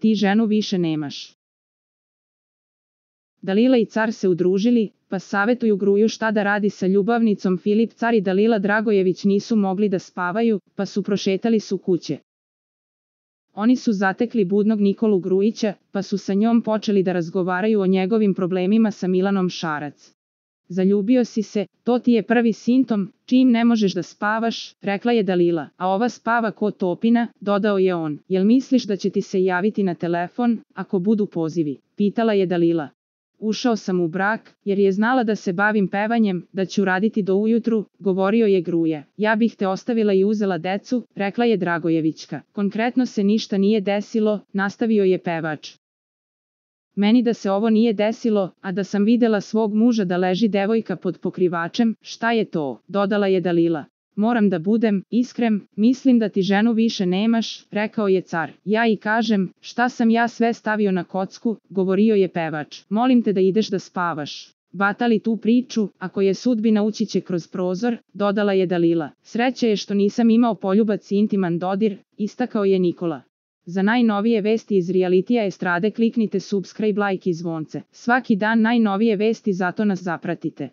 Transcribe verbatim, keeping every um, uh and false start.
ti ženu više nemaš. Dalila i car se udružili, pa savetuju Gruju šta da radi sa ljubavnicom. Filip car i Dalila Dragojević nisu mogli da spavaju, pa su prošetali su kuće. Oni su zatekli budnog Nikolu Grujića, pa su sa njom počeli da razgovaraju o njegovim problemima sa Milanom Šarac. Zaljubio si se, to ti je prvi simptom, čim ne možeš da spavaš, rekla je Dalila, a ova spava ko topina, dodao je on. Jel misliš da će ti se javiti na telefon, ako budu pozivi, pitala je Dalila. Ušao sam u brak, jer je znala da se bavim pevanjem, da ću raditi do ujutru, govorio je Gruja. Ja bih te ostavila i uzela decu, rekla je Dragojevićka. Konkretno se ništa nije desilo, nastavio je pevač. Meni da se ovo nije desilo, a da sam videla svog muža da leži devojka pod pokrivačem, šta je to, dodala je Dalila. Moram da budem iskren, mislim da ti ženu više nemaš, rekao je car. Ja i kažem, šta sam ja sve stavio na kocku, govorio je pevač. Molim te da ideš da spavaš. Batali tu priču, ako je sudbina ući će kroz prozor, dodala je Dalila. Sreća je što nisam imao poljubac i intiman dodir, istakao je Nikola. Za najnovije vesti iz realitija estrade kliknite subscribe, like i zvonce. Svaki dan najnovije vesti, zato nas zapratite.